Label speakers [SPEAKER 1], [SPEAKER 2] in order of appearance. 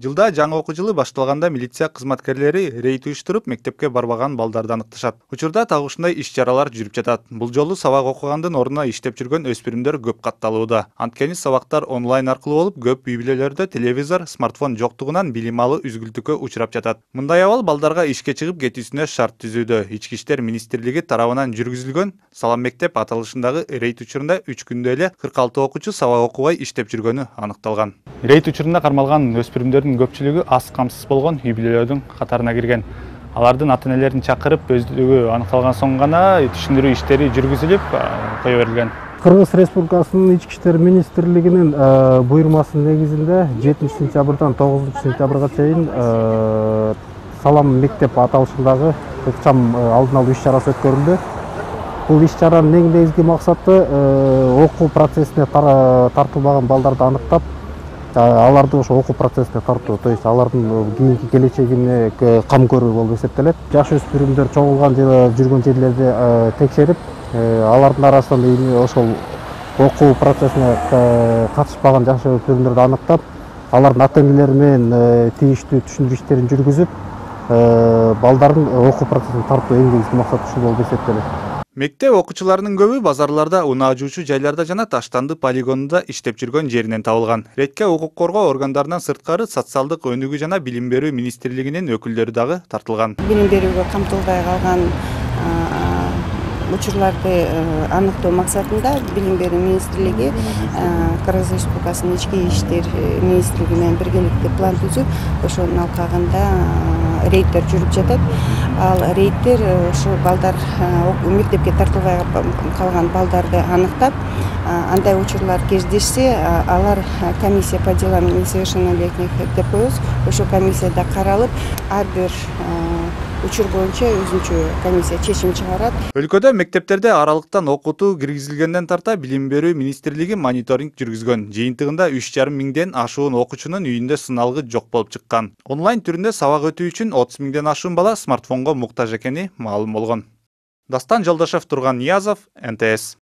[SPEAKER 1] Жылда жаңы окуу жылы башталганда милиция кызматкерлери рейд уюштуруп мектепке барбаган балдарды аныкташат. Учурда так ушундай иш-чаралар жүрүп жатат. Бул жолу сабак окугандын ордуна иштеп жүргөн өспүрүмдөр көп катталууда. Анткени сабактар онлайн аркылуу болуп, көп үй бүлөлөрдө телевизор, смартфон жоктугунан билим алуу үзгүлтүккө учурап жатат. Мындай абал балдарга ишке чыгып кетүүсүнө шарт түзүүдө. Ички иштер министрлиги тарабынан жүргүзүлгөн Салам мектеп аталышындагы рейд учурунда 3 күндө эле 46 окуучу сабак окубай иштеп жүргөнү аныкталган. Рейд учурунда кармалган өспүрүмдөрдүн көпчүлүгү аз камсыз болгон үй бүлөлөрдүн катарына кирген. Алардын ата-энелерин чакырып, өздүгү аныкталган соң гана түшүндүрүү иштери жүргүзүлүп кое берилген.
[SPEAKER 2] Кыргыз Республикасынын Ички иштер министрлигинин буйрмасынын негизинде 7 сентябрдан 9 сентябрга чейин Салам мектеп аталышындагы ыкчам алдын алуу иш-чарасы өткөрүлдү. Бул иш-чаранын эң негизги максаты окуу процессине тартылбаган балдарды аныктап, аларды ошо окуу процессине тартуу, то есть алардын кийинки келечегине кам көрүү болуп эсептелет. Жаш өспүрүмдөр чогулган жүргөн жерлерди текшерип, алардын арасынан ошол окуу процессине катышпаган жаш өспүрүмдөрдү аныктап, алардын ата-энелери менен тийиштүү түшүндүрүү иштерин жүргүзүп, балдардын окуу процессине тартуу эң негизги максат ушул болуп эсептелет.
[SPEAKER 1] Мектеп окуучуларынын көбү базарларда, унаа жуучу жайларда жана Таштанды полигонунда иштеп жүргөн жеринен табылган. Рейдке укук коргоо органдарынан сырткары социалдык өнүгүү жана билим берүү министрлигинин өкүлдөрү дагы тартылган.
[SPEAKER 3] Билим берүүгө камтылбай калган учурларды аныктоо максатында Билим берүү министрлиги Кыргыз Республикасынын Ички иштер министрлиги менен биргеликте план түзүп, ошонун алкагында рейдтер жүрүп жатат. Ал рейдтер ошо балдар мектепке тартылбай калган балдарды аныктап, андай учурлар кездешсе, алар комиссия по делам несовершеннолетних деп коебуз. Ошо комиссияда каралып, ар бир учур боюнча өзүнчө комиссия чечим чыгарат.
[SPEAKER 1] Өлкөдө мектептерде аралыктан окутуу киргизилгенден тарта Билим берүү министрлиги мониторинг жүргүзгөн. Жыйынтыгында 3,5 миңден ашуун окуучунун үйүндө сыналгы жок болуп чыккан. Онлайн түрүндө сабак өтүү үчүн 30 миңден ашуун бала смартфонго муктаж экени маалым болгон. Дастан Жолдошев, Турган Ниязов, НТС.